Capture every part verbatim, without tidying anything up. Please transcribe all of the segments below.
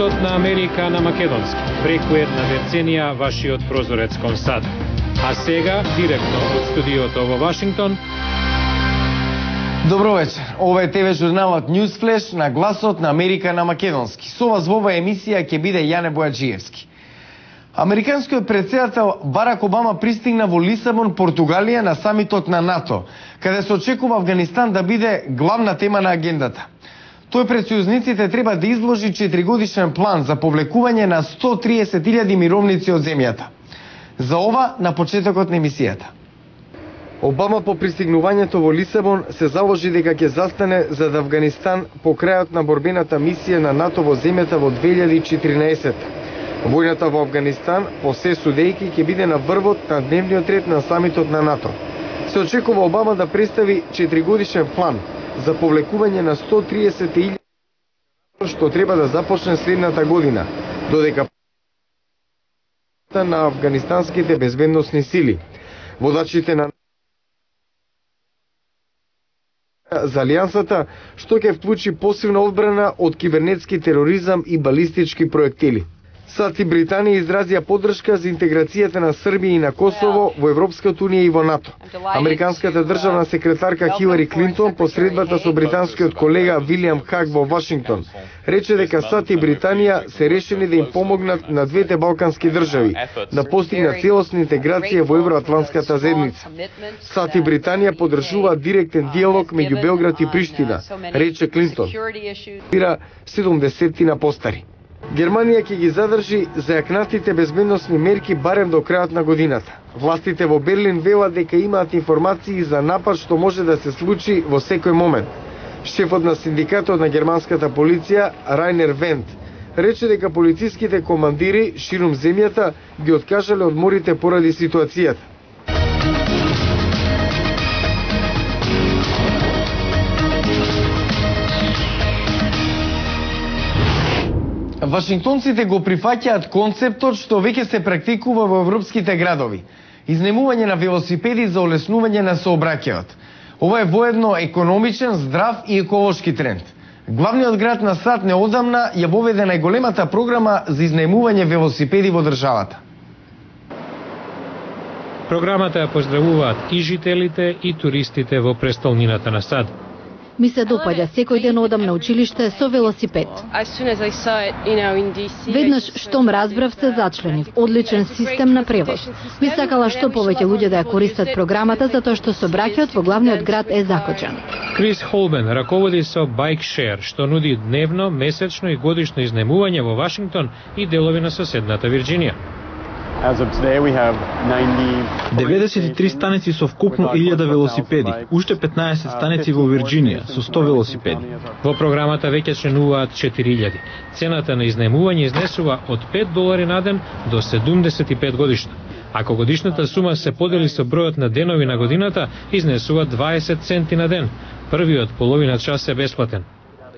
Гласот на Америка на македонски. Преку една деценија вашиот прозорец кон САД. А сега, директно од студиото во Вашингтон. Добро вечер. Ова е ТВ журналот Newsflash на Гласот на Америка на македонски. Со вас во оваа емисија ќе биде Јане Бојаджиевски. Американскиот претседател Барак Обама пристигна во Лисабон, Португалија на самитот на НАТО, каде се очекува Авганистан да биде главна тема на агендата. Тој пред сојузниците треба да изложи четиригодишен план за повлекување на сто триесет илјади мировници од земјата. За ова на почетокот на емисијата. Обама по пристигнувањето во Лисабон се заложи дека ќе застане за да Авганистан по крајот на борбената мисија на НАТО во земјата во две илјади и четирнаесетта. Војната во Авганистан, по се судејки, ќе биде на врвот на дневниот ред на самитот на НАТО. Се очекува Обама да представи четиригодишен план за повлекување на сто триесет илјади што треба да започне следната година, додека на афганистанските безбедносни сили. Водачите на за алијансата што ќе вклучи посилна одбрана од кибернетски тероризам и балистички проектили. САД и Британија изразија поддршка за интеграцијата на Србија и на Косово во Европската унија и во НАТО. Американската државна секретарка Хилари Клинтон по средбата со британскиот колега Вилијам Хаг во Вашингтон рече дека САД и Британија се решени да им помогнат на двете балкански држави да постигнат целосна интеграција во евроатлантската заедница. САД и Британија поддржуваат директен диалог меѓу Белград и Приштина, рече Клинтон. седумдесеттина постари. Германија ќе ги задржи зајакнатите безбедносни мерки барем до крајот на годината. Властите во Берлин велат дека имаат информации за напад што може да се случи во секој момент. Шефот на синдикатот на германската полиција, Райнер Вент, рече дека полициските командири ширум земјата ги откажале одморите поради ситуацијата. Вашингтонците го прифаќаат концептот што веќе се практикува во европските градови. Изнемување на велосипеди за олеснување на сообраќајот. Ова е воедно економичен, здрав и еколошки тренд. Главниот град на САД неодамна ја воведе најголемата програма за изнемување велосипеди во државата. Програмата ја поздравуваат и жителите и туристите во престолнината на САД. Ми се допаѓа, секој ден одам на училиште со велосипед. Веднаш штом разбрав се зачленив, одличен систем на превоз. Би сакала што повеќе луѓе да ја користат програмата затоа што сообраќајот во главниот град е закочен. Крис Холбен раководи со Bike Share, што нуди дневно, месечно и годишно изнемување во Вашингтон и делови на соседната Вирџинија. деветдесет и три станици со вкупно илјада велосипеди, уште петнаесет станици во Вирџинија со сто велосипеди. Во програмата веќе членуваат четири илјади. Цената на изнемување изнесува од пет долари на ден до седумдесет и пет годишно. Ако годишната сума се подели со бројот на денови на годината, изнесува дваесет центи на ден. Првиот половина час е бесплатен.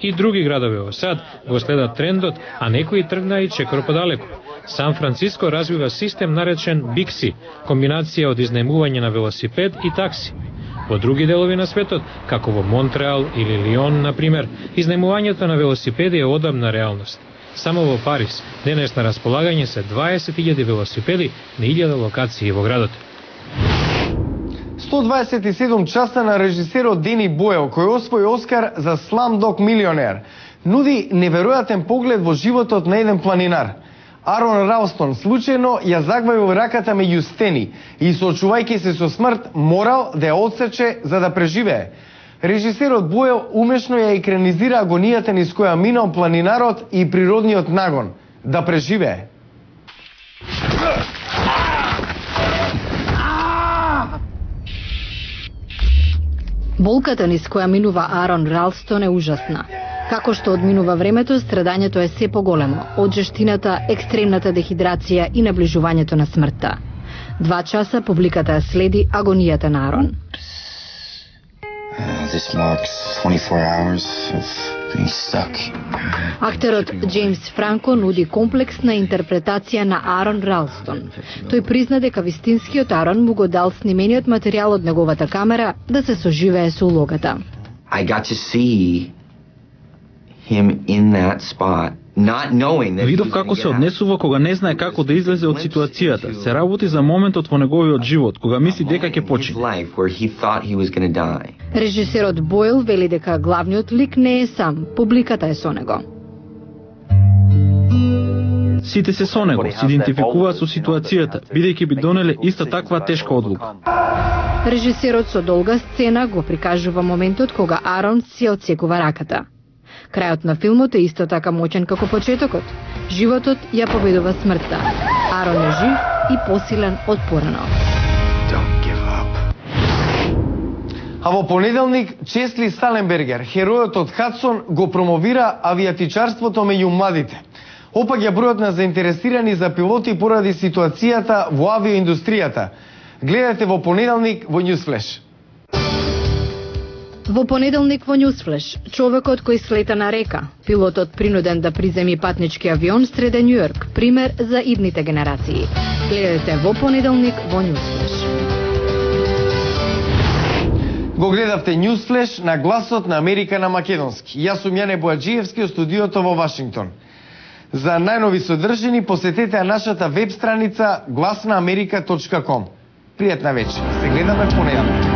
И други градови во САД го следат трендот, а некои тргна и чекор подалеку. Сан Франциско развива систем наречен Бикси, комбинација од изнемување на велосипед и такси. Во други делови на светот, како во Монтреал или Лион, например, изнемувањето на велосипеди е одамна реалност. Само во Париз денес на располагање се дваесет илјади велосипеди на илјада локации во градот. сто дваесет и седум часа на режисерот Дени Бойл, кој освои Оскар за Slumdog Millionaire, нуди неверојатен поглед во животот на еден планинар. Арон Ралстон случајно ја загвајува раката меѓу стени и соочувајќи се со смрт морал да ја одсече за да преживее. Режисерот Бойл умешно ја екранизира агонијата низ која минал планинарот и природниот нагон да преживее. Болката низ која минува Арон Ралстон е ужасна. Како што одминува времето, страдањето е се поголемо, од жештината, екстремната дехидрација и наближувањето на смртта. Два часа публиката следи агонијата на Арон. Актерот Джеймс Франко нуди комплексна интерпретација на Арон Ралстон. Тој призна дека вистинскиот Арон му го дал снимениот материјал од неговата камера да се соживее со улогата. I got to see him in that spot Видов како се однесува кога не знае како да излезе од ситуацијата. Се работи за моментот во неговиот живот, кога мисли дека ќе почине. Режисерот Бойл вели дека главниот лик не е сам, публиката е со него. Сите се со него, се идентификуваат со ситуацијата, бидејќи би донеле иста таква тешка одлука. Режисерот со долга сцена го прикажува моментот кога Арон си одсекува раката. Крајот на филмот е исто така моќен како почетокот. Животот ја победува смртта. Арон е жив и посилен од порано. А во понеделник Чесли Сталенбергер, херојот од Хадсон, го промовира авиатичарството меѓу младите. Опаѓа бројот на заинтересирани за пилоти поради ситуацијата во авиоиндустријата. Гледате во понеделник во Newsflash. Во понеделник во Newsflash, човекот кој слета на река, пилотот принуден да приземи патнички авион среде Њујорк, пример за идните генерации. Гледате во понеделник во Newsflash. Го гледавте Newsflash на гласот на Америка на македонски. Јас сум Јане Боаџиевски од студиото во Вашингтон. За најнови содржини посетете нашата веб страница глас на америка точка ком. Пријатна вечер. Се гледаме в понеделник.